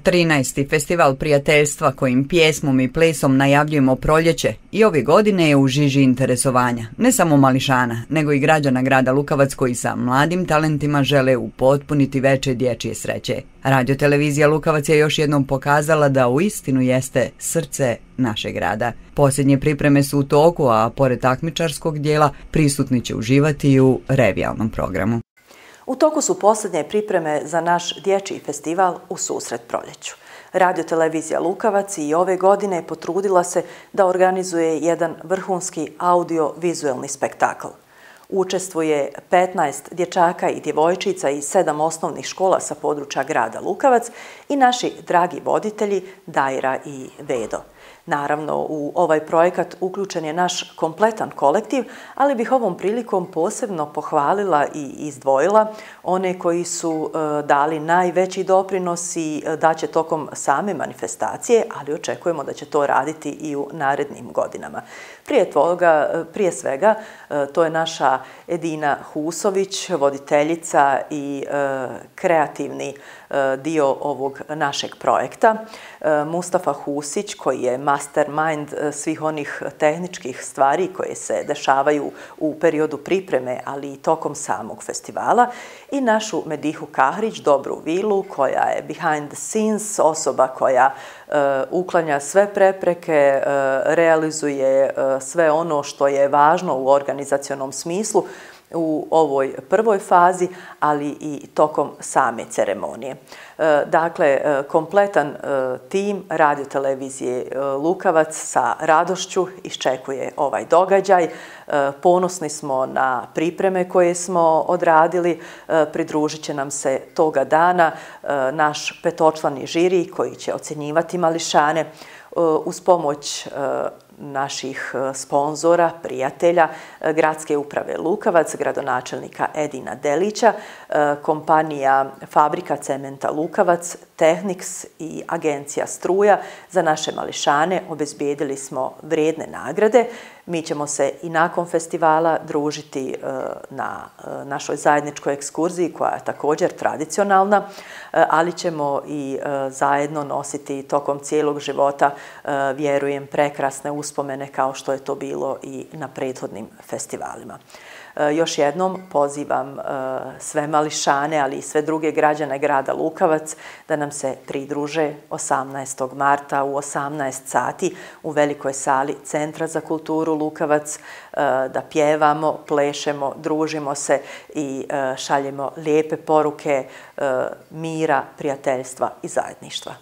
13. Festival prijateljstva kojim pjesmom i plesom najavljujemo proljeće i ove godine je u žiži interesovanja, ne samo mališana, nego i građana grada Lukavac koji sa mladim talentima žele upotpuniti veče dječje sreće. Radiotelevizija Lukavac je još jednom pokazala da uistinu jeste srce našeg grada. Posljednje pripreme su u toku, a pored takmičarskog dijela prisutni će uživati i u revijalnom programu. U toku su posljednje pripreme za naš dječji festival U susret proljeću. Radiotelevizija Lukavac i ove godine potrudila se da organizuje jedan vrhunski audio-vizuelni spektakl. Učestvuje 15 dječaka i djevojčica iz 7 osnovnih škola sa područja grada Lukavac i naši dragi voditelji Dajra i Vedo. Naravno, u ovaj projekat uključen je naš kompletan kolektiv, ali bih ovom prilikom posebno pohvalila i izdvojila one koji su dali najveći doprinos i daće tokom same manifestacije, ali očekujemo da će to raditi i u narednim godinama. Prije svega, to je naša Edina Husović, voditeljica i kreativni dio ovog našeg projekta. Mustafa Husić, koji je mastermind svih onih tehničkih stvari koje se dešavaju u periodu pripreme, ali i tokom samog festivala. I našu Medihu Kahrić, Dobru Vilu, koja je behind the scenes, osoba koja uklanja sve prepreke, realizuje sve ono što je važno u organizacionom smislu u ovoj prvoj fazi, ali i tokom same ceremonije. Dakle, kompletan tim radiotelevizije Lukavac sa radošću iščekuje ovaj događaj. Ponosni smo na pripreme koje smo odradili. Pridružit će nam se toga dana naš petočlani žiri koji će ocjenjivati mališane uz pomoć naših sponzora, prijatelja, Gradske uprave Lukavac, gradonačelnika Edina Delića, kompanija Fabrika cementa Lukavac, Tehnix i agencija Struja. Za naše mališane obezbijedili smo vrijedne nagrade. Mi ćemo se i nakon festivala družiti na našoj zajedničkoj ekskurziji koja je također tradicionalna, ali ćemo i zajedno nositi tokom cijelog života, vjerujem, prekrasne uspomene kao što je to bilo i na prethodnim festivalima. Još jednom pozivam sve mališane, ali i sve druge građane grada Lukavac da nam se pridruže 18. marta u 18 sati u velikoj sali Centra za kulturu Lukavac, da pjevamo, plešemo, družimo se i šaljemo lijepe poruke mira, prijateljstva i zajedništva.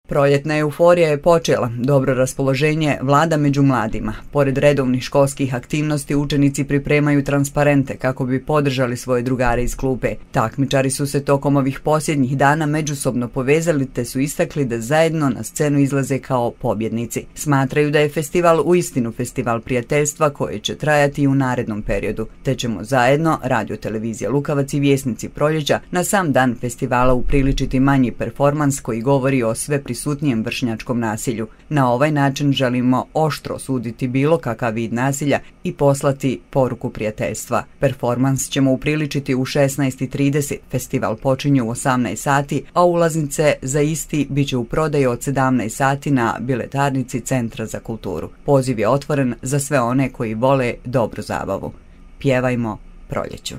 Proljetna euforija je počela, dobro raspoloženje vlada među mladima. Pored redovnih školskih aktivnosti, učenici pripremaju transparente kako bi podržali svoje drugare iz klupe. Takmičari su se tokom ovih posljednjih dana međusobno povezali te su istakli da zajedno na scenu izlaze kao pobjednici. Smatraju da je festival uistinu festival prijateljstva koji će trajati i u narednom periodu, te ćemo zajedno, Radiotelevizija Lukavac i Vjesnici proljeća, na sam dan festivala upriličiti manji performans koji govori o sve prisutnijem vršnjačkom nasilju. Na ovaj način želimo oštro osuditi bilo kakav vid nasilja i poslati poruku prijateljstva. Performans ćemo upriličiti u 16:30, festival počinje u 18 sati, a ulaznice za isti bit će u prodaji od 17 sati na biletarnici Centra za kulturu. Poziv je otvoren za sve one koji vole dobru zabavu. Pjevajmo proljeću.